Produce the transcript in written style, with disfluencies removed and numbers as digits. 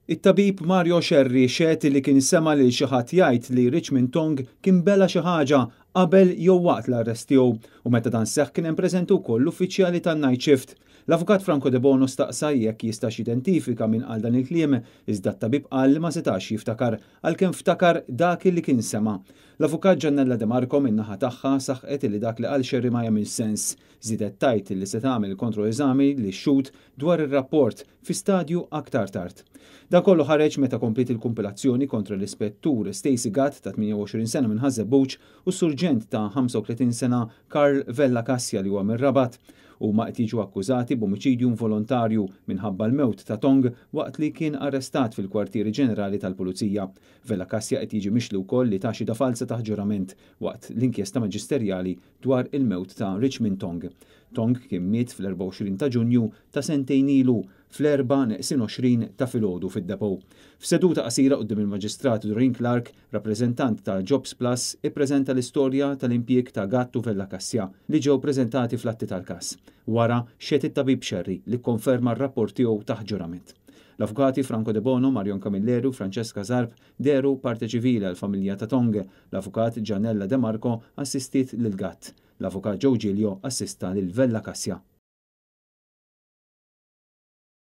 It-tabib Mario Scerri xehed li kien sema' lil xi ħadd jgħid li Richmond Tong kien bela' xi ħaġa qabel jew waqt l-arrest tiegħu u meta dan seħħ kien hemm preżenti wkoll l-uffiċjali tan-night shift. L-Avukat Franco Debono staqsa jekk jistax jidentifika min qal dan il-kliem, iżda t-tabib qal li ma setax jiftakar għalkemm ftakar dak li kien sema'. L-Avukat Giannella De Marco min-naħa tagħha saħqet li dak li qal Scerri ma jagħmilx sens. Żiedet tgħid li se tagħmel kontroeżami lix-xhud dwar ir-rapport fi stadju aktar tard. Dan kollu ħareġ meta kompliet il-kumpilazzjoni kontra l-Ispettur Stacey Gatt ta' 28 sena minn Ħaż-Żebbuġ u s-Surġent ta' 35 sena Karl Vella Cassia li huwa mir-Rabat. Huma qed jiġu akkużati b'omiċidju involontarju minħabba l-mewt ta' Tong waqt li kien arrestat fil-Kwartieri Ġenerali tal-Pulizija. Vella Cassia qed jiġi mixli wkoll li ta xhieda falza taħt ġurament waqt l-inkjesta maġisterjali dwar il-mewt ta' Richmond Tong. Tong kien miet fl-24 ta' Ġunju ta' sentejn ilu fl-erbgħa neqsin 20 ta' filgħodu fid-depot. F'seduta qasira quddiem il-Maġistrat Doreen Clarke, rappreżentant ta' Jobs Plus ippreżenta l-istorja tal-impjieg ta' Gatt u Vella Cassia li ġew preżentati fl-atti tal-każ. Wara, xehed it-tabib Scerri li kkonferma r-rapport tiegħu taħt ġurament. L-Avukati Franco Debono, Marion Camilleri u Francesca Zarb dehru parte ċivili għall-familja ta' Tong. L-Avukat Gianella De Marco assistiet lil Gatt. L-Avukat Joe Giglio assista lil Vella Cassia.